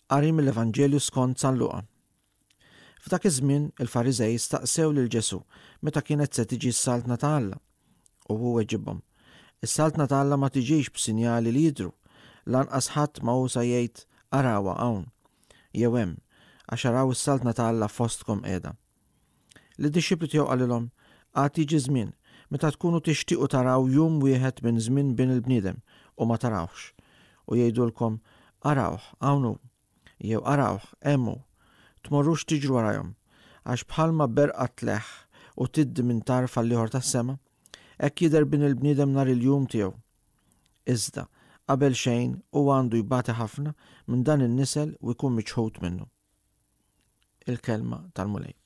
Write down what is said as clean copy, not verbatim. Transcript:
Qari mill-Evanġelju skont San Luqa. F'dak iż-żmien il-Fariżej staqsew lil Ġesù meta kienet se tiġi s-Saltna ta' Alla. U hu weġibhom, Is-Saltna ta' Alla ma tiġix b'sinjali li jidhru, lanqas ħadd ma hu sa jgħid, 'Arawha hawn! jew 'Hemm! għax araw is-Saltna ta' Alla fostkom qiegħda. Lid-dixxipli tiegħu qalilhom, Għad jiġi żmien, meta tkunu tixtiequ taraw jum wieħed minn żmien Bin il-bniedem, u ma tarawhx. U jgħidulkom, 'Arawh, hawn hu! Jew 'Arawh, hemm hu! Tmorrux tiġru warajhom, għax bħalma berqa tleħħ u tiddi minn tarf għall-ieħor tas-sema, hekk jidher Bin il-bniedem nhar il-jum tiegħu. Iżda, qabel xejn, hu għandu jbati ħafna minn dan in-nisel u jkun miċħud minnu. Il-Kelma tal-Mulej.